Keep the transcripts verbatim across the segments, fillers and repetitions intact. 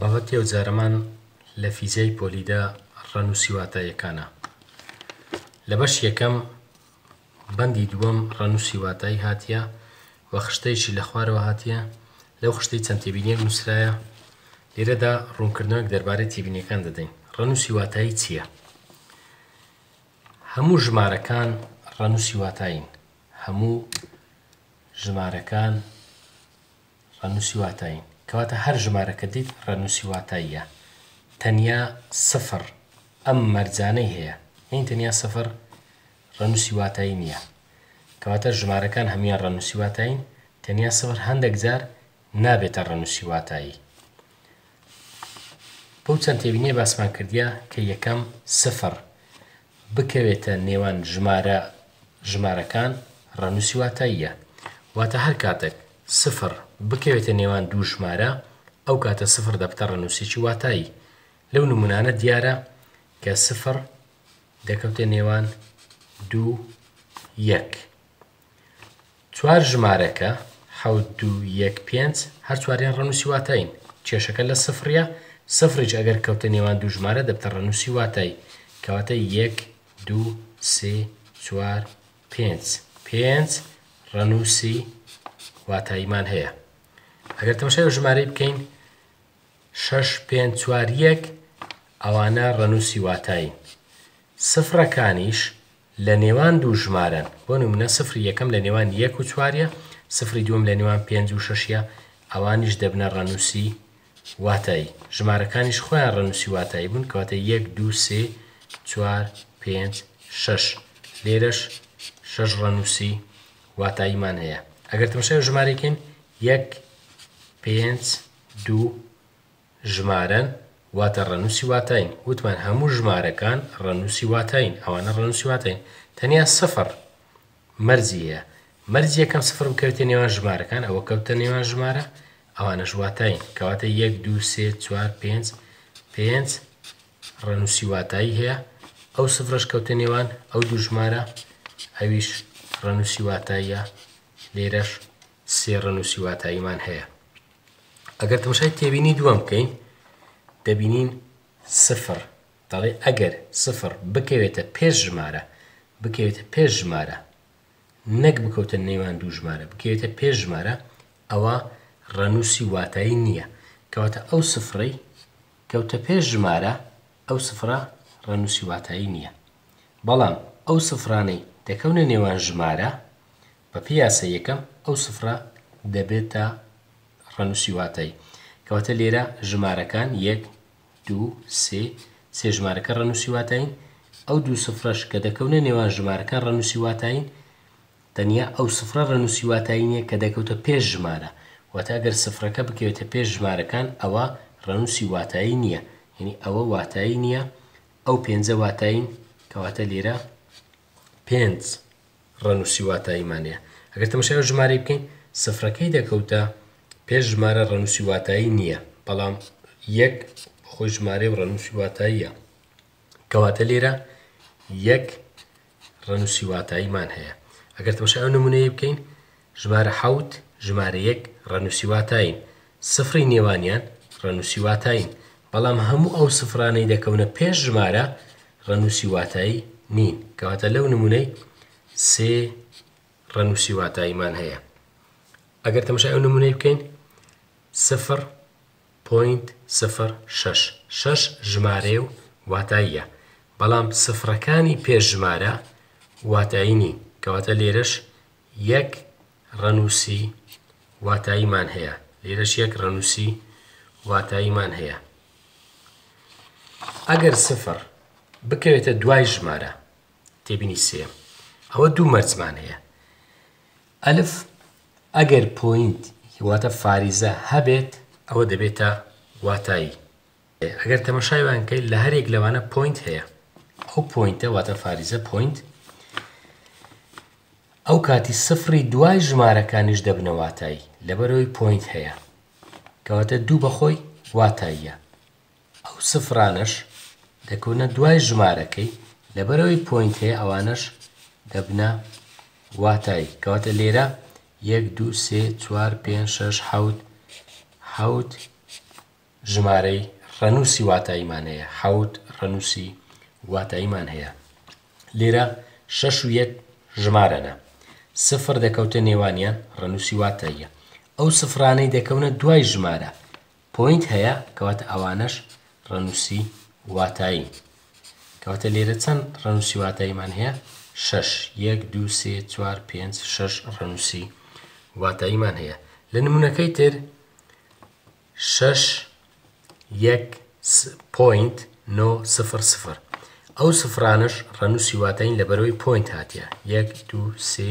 بابەتی ئەو جارەمان لە فیزیای پۆلیدا ڕەنووسی واتاییەکانە. لە بەش یەکەم بەندی دووەم ڕەنووسی واتایی هاتیە و خشتەیەکی لە خوارەوە هاتیە. لەو خشتەی چەند تێبینیەک نووسرایە. لێرەدا ڕوونکردنەوەک دەربارەی تێبینیەکان دەدەین. ڕەنووسی واتایی چییە؟ هەموو ژمارەکان ڕەنووسی واتایین. هەموو ژمارەکان ڕەنووسی واتایین. کەواتە هەر ژمارەکە دیت ڕەنووسی واتاییە. تەنیا سفر ئەم مەرجانەی هەیە. یعنی تەنیا سفر ڕەنووسی واتایی نییە. کەواتە ژمارەکان هەمویان ڕەنووسی واتایین، تەنیا سفر هەندێک جار نابێتە ڕەنووسی واتایی. بەو چەند تێبینیە باسمان کردیە کە یەکەم سفر بکەوێتە نێوان ژمارە ژمارەکان ڕەنووسی واتاییە. واتە هەر کاتێک سفر بکەوێتە نێوان دوو ژمارە، ئەو کاتە سفر دەبتە ڕەنووسێکی واتایی. لەو نمونانە دیارە کە سفر دەکەوتە نێوان دوو یەک. چوار ژمارەکە حەوت دوو یەک پێنج هەر چواریان ڕەنووسی واتایین. کێشەکە لە سفریە، سفریش ئەگەر کەوتە نێوان دوو ژمارە دەبتە ڕەنووسی واتایی. کەواتە یەک دوو سێ چوار پێنج، پێنج ڕەنووسی واتاییمان هەیە. ئەگەر تەماشای ئەو ژمارەی بکەین شەش پێنج چوار یەک، ئەوانە ڕەنووسی واتایین. سفرەکانیش لە نێوان دوو ژمارەن. بۆ نمونە سفری یەکەم لە نێوان یەک و چواریە، سفری دووەم لە نێوان پێنج و شەشیە، ئەوانیش دەبنە ڕەنووسی واتایی. ژمارەکانیش خۆیان ڕەنووسی واتایی بوون، کەواتە یەک دوو سێ چوار پێنج شەش، لێرەش شەش ڕەنووسی واتاییمان هەیە. ئەگەر تەماشای ژمارەیەکەین یەک پێنج دوو ژمارەن، واتە ڕەنووسی واتایین. وتمان هەموو ژمارەکان ڕەنووسی واتایین، ئەوانە ڕەنووسی واتایین. تەنیا سفر مەرجی هەیە. مەرجی یەکەم سفر بکەوێتە نێوان ژمارەکان، ئەوە کەوتە نێوان ژمارە، ئەوانەش واتایین. کەواتە یەک دوو سێ چوار پێنج، پێنج ڕەنووسی واتایی هەیە. ئەو سفرەش کەوتە نێوان ئەو دوو ژمارە، ئەویش ڕەنووسی واتاییە. لێرەش سێ ڕەنووسی واتاییمان هەیە. ئەگەر تەماشای تێبینی دووەم بکەین دەبینین سفر دەڵێ ئەگەر سفر بکەوێتە پێش ژمارە، بکەوێتە پێش ژمارە نەک بکەوتە نێوان دوو ژمارە، بکەوێتە پێش ژمارە، ئەوە ڕەنووسی واتایی نییە. کەواتە ئەو سفرەی کەوتە پێش ژمارە، ئەو سفرە ڕەنووسی واتایی نییە. بەڵام ئەو سفرانەی دەکەونە نێوان ژمارە بە پێی یاسای یەکەم ئەو سفرە دەبێتە ڕەنووسی واتایی. کەواتە لێرە ژمارەکان یەک دوو سێ، سێ ژمارەکە ڕەنووسی واتایین. ئەو دوو سفرەش کە دەکەونە نێوان ژمارەکان ڕەنووسی واتایین، تەنیا ئەو سفرە ڕەنووسی واتایی نییە کە دەکەوتە پێش ژمارە. واتە ئەگەر سفرەکە بکەوێتە پێش ژمارەکان ئەوە ڕەنووسی واتایی نییە، یعنی ئەوە واتایی نییە، ئەو پێنجە واتایین. کەواتە لێرە پێنج ڕەنووسی واتاییمان هەیە. ئەگەر تەماشای ئەو ژمارەی بکەین سفرەکەی دەکەوتە پێش ژمارە ڕەنووسی واتایی نییە، بەڵام یەک خۆی ژمارەی و ڕەنووسی واتاییە. کەواتە لێرە یەک ڕەنووسی واتاییمان هەیە. ئەگەر تەماشای ئەو نمونەیە بکەین ژمارە حەوت ژمارە یەک ڕەنووسی واتایین، سفری نێوانیان ڕەنووسی واتایین، بەڵام هەموو ئەو سفرانەی دەکەونە پێش ژمارە ڕەنووسی واتایی نین. کەواتە لەو نمونەی سێ ڕەنووسی واتاییمان هەیە. ئەگەر تەماشای ئەو نمونەی بکەین سفر point سفر شەش، شەش ژمارەیە و واتاییە، بەڵام سفرەکانی پێش ژمارە واتایی نین. کەواتە لێرەش یەک ڕەنووسی واتاییمان هەیە، لێرەش یەک ڕەنووسی واتاییمان هەیە. ئەگەر سفر بکەوێتە دوای ژمارە، تێبینی سێ، ئەوە دوو مەرجمان هەیە. ئەلف ئەگەر point واتە فاریزە هەبێت ئەوە دەبێتە واتایی. ئەگەر تەماشای وان بکەیت لە هەرێک لەوانە point هەیە، ئەو point ە واتە فاریزە point، ئەو کاتی سفری دوای ژمارەکانیش دەبنە واتایی، لەبەرەوەی point هەیە. کەواتە دوو بەخۆی واتاییە، ئەو سفرانەش دەکەونە دوای ژمارەکەی، لەبەرەوەی point هەیە ئەوانەش دەبنە واتایی. کەواتە لێرە یەک دوو سێ چوار پێنج شەش حەوت، حەوت ژمارەی ڕەنووسی واتاییمان هەیە، حەوت ڕەنووسی واتاییمان هەیە. لێرە شەش و یەک ژمارەنە، سفر دەکەوتە نێوانیان ڕەنووسی واتاییە. ئەو سفرانەی دەکەونە دوای ژمارە point هەیە، کەواتە ئەوانەش ڕەنووسی واتایی. کەواتە لێرە چەند ڕەنووسی واتاییمان هەیە؟ شەش، یەک، دوو، سێ، چوار، پێنج، شەش ڕەنووسی واتاییمان هەیە. لە نمونەکەی تر شەش یەک point نۆ سفر سفر، ئەو سفرانەش ڕەنووسی واتایین لەبەرەوەی point هاتیە. یەک، دوو، سێ،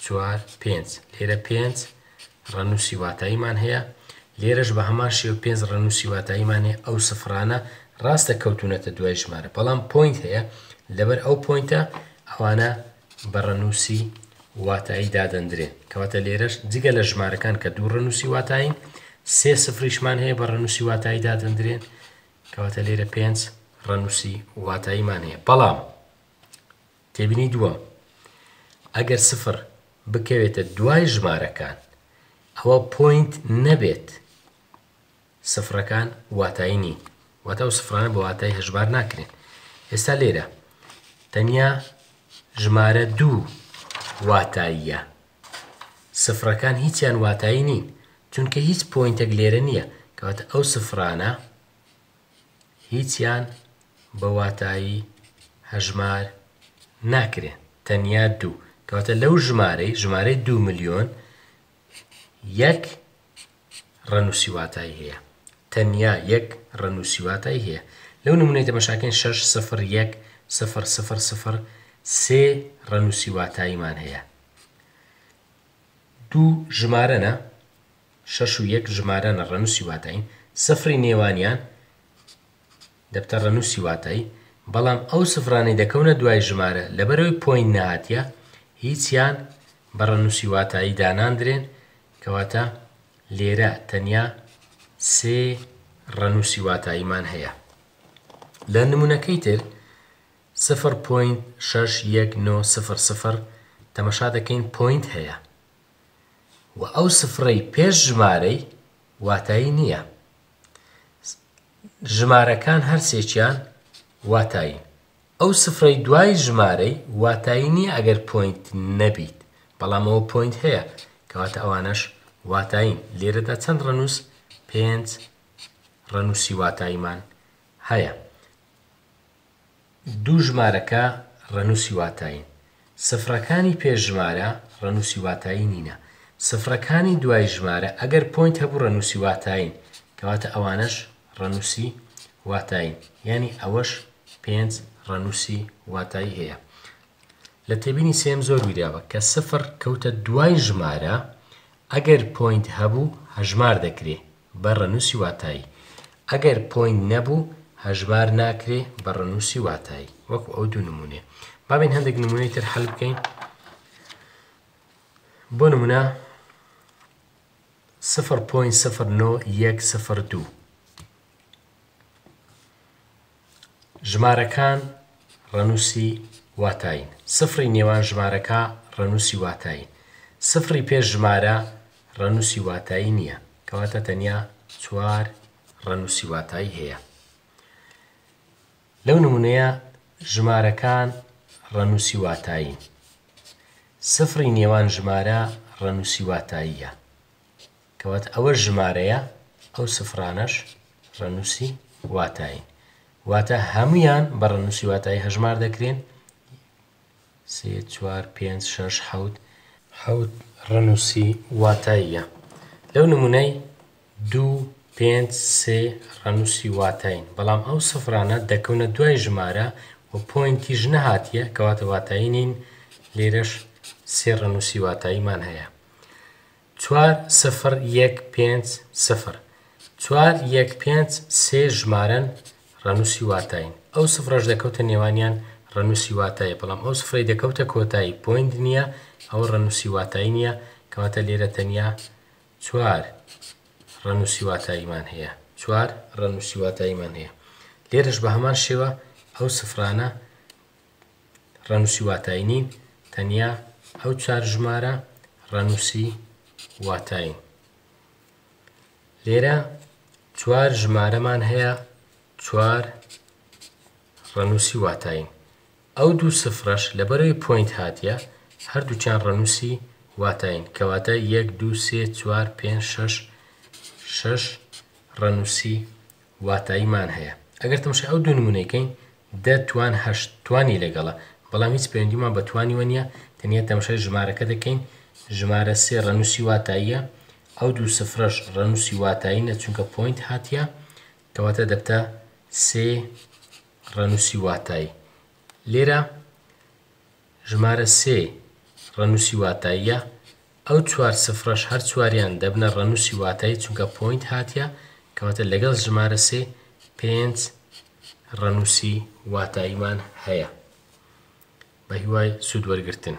چوار، پێنج. لێرە پێنج ڕەنووسی واتاییمان هەیە. لێرەش بە هەمان شێوە پێنج ڕەنووسی واتاییمان هەیە. ئەو سفرانە ڕاستە کەوتونەتە دوای ژمارە، بەڵام point هەیە، لەبەر ئەو point ە ئەوانە بە ڕەنووسی واتایی دادەندرێن. کەواتە لێرەش جگە لە ژمارەکان کە دوو ڕەنووسی واتایین، سێ سفریشمان هەیە بە ڕەنووسی واتایی دادەندرێن. کەواتە لێرە پێنج ڕەنووسی واتاییمان هەیە. بەڵام تێبینی دووەم، ئەگەر سفر بکەوێتە دوای ژمارەکان ئەوە point نەبێت، سفرەکان واتایی نین، واتە ئەو سفرانە بە واتای هەژمار ناکرێن. ئێستا لێرە تەنیا ژمارە دوو واتاییە، سفرەکان هیچیان واتایی نین، چونکە هیچ point ێک لێرە نییە. کەواتە ئەو سفرانە هیچیان بە واتایی هەژمار ناکرێن، تەنیا دوو. کەواتە لەو ژمارەی ژمارەی دوو ملیۆن یەک ڕەنووسی واتایی هەیە، تەنیا یەک ڕەنووسی واتایی هەیە. لەو نمونەی تەماشاکەین شەش سفر یەک سفر سفر سفر سێ ڕەنووسی واتاییمان هەیە. دوو ژمارەنە، شەش و یەک ژمارەنە ڕەنووسی واتایین، سفری نێوانیان دەبتە ڕەنووسی واتایی، بەڵام ئەو سفرانەی دەکەونە دوای ژمارە لەبەرەوەی point نەهاتیە هیچیان بە ڕەنووسی واتایی داناندرێن. کەواتە لێرە تەنیا سێ ڕەنووسی واتاییمان هەیە. لە نمونەکەی تر سفر point شەش یەک نۆ سفر سفر تەماشا دەکەین point هەیە و ئەو سفرەی پێش ژمارەی واتایی نییە. ژمارەکان هەرسێکیان واتایی. ئەو سفرەی دوای ژمارەی واتایی نییە ئەگەر point نەبیت، بەڵام ئەوە point هەیە، کەواتە ئەوانەش واتایین. لێرەدا چەند ڕەنووس؟ پێنج ڕەنووسی واتاییمان هەیە. دوو ژمارەکە ڕەنووسی واتایین، سفرەکانی پێش ژمارە ڕەنووسی واتایی نینە، سفرەکانی دوای ژمارە ئەگەر point هەبوو ڕەنووسی واتایین، کەواتە ئەوانەش ڕەنووسی واتایین. یعنی ئەوەش پێنج ڕەنووسی واتایی هەیە. لە تێبینی سێم زۆر ویراوە کە سفر کەوتە دوای ژمارە ئەگەر point هەبوو هەژمار دەکرێ بە ڕەنووسی واتایی، ئەگەر point نەبوو هەژمار ناکرێ بە ڕەنووسی واتایی، وەکو ئەو دوو نمونەیە. با بین هەندێک نمونەی تر حل بکەین. بۆ نمونە سفر point سفر نۆ یەک سفر دوو، ژمارەکان ڕەنووسی واتایین، سفری نێوان ژمارەکە ڕەنووسی واتایین، سفری پێش ژمارە ڕەنووسی واتایی نییە، کەواتە تەنیا چوار ڕەنووسی واتایی هەیە. لەو نمونەیە ژمارەکان ڕەنووسی واتایین، سفری نێوان ژمارە ڕەنووسی واتاییە، کەواتە ئەوە ژمارەیە ئەو سفرانەش ڕەنووسی واتایین، واتە هەمویان بە ڕەنووسی واتایی هەژمار دەکرێن. سێ، چوار، پێنج، شەش، حەوت، حەوت ڕەنووسی واتاییە. لەو نمونەی دوو، پێنج، سێ ڕەنووسی واتایین، بەڵام ئەو سفرانە دەکەونە دوای ژمارە و point یش نەهاتیە، کەواتە واتایی نین. لێرەش سێ ڕەنووسی واتاییمان هەیە. چوار، سفر، یەک، پێنج، سفر. چوار، یەک، پێنج، سێ ژمارەن ڕەنووسی واتایین، ئەو سفرەش دەکەوتە نێوانیان ڕەنووسی واتایە، بەڵام ئەو سفرەی دەکەوتە کۆتایی point نییە، ئەو ڕەنووسی واتایی نییە، کەواتە لێرە تەنیا چوار ڕەنووسی واتاییمان هەیە، چوار ڕەنووسی واتاییمان هەیە. لێرەش بە هەمان شێوە ئەو سفرانە ڕەنووسی واتایی نین، تەنیا ئەو چوار ژمارە ڕەنووسی واتایین. لێرە چوار ژمارەمان هەیە، چوار ڕەنووسی واتایین. ئەو دوو سفرەش لەبەرەوەی point هاتیە هەردووکیان ڕەنووسی واتایین، کەواتە یەک دوو سێ چوار پێنج شەش شەش ڕەنووسی واتاییمان هەیە. ئەگەر تەماشای ئەو دوو نمونەیکەین دە توان هەشت توانی لەگەڵە، بەڵام هیچ پەیوەندیمان بە توانیوە نییە، تەنیا تەماشای ژمارەکە دەکەین. ژمارە سێ ڕەنووسی واتاییە، ئەو دوو سفرەش ڕەنووسی واتایینە چونکە point هاتیە، کەواتە دەبتە سێ ڕەنووسی واتایی. لێرە ژمارە سێ ڕەنووسی واتاییە، ئەو چوار سفرەش هەر چواریان دەبنە ڕەنووسی واتایی چونکە point هاتیە، کەواتە لەگەڵ ژمارە سێ پێنج ڕەنووسی واتاییمان هەیە. بە هیوای سوود وەرگرتن.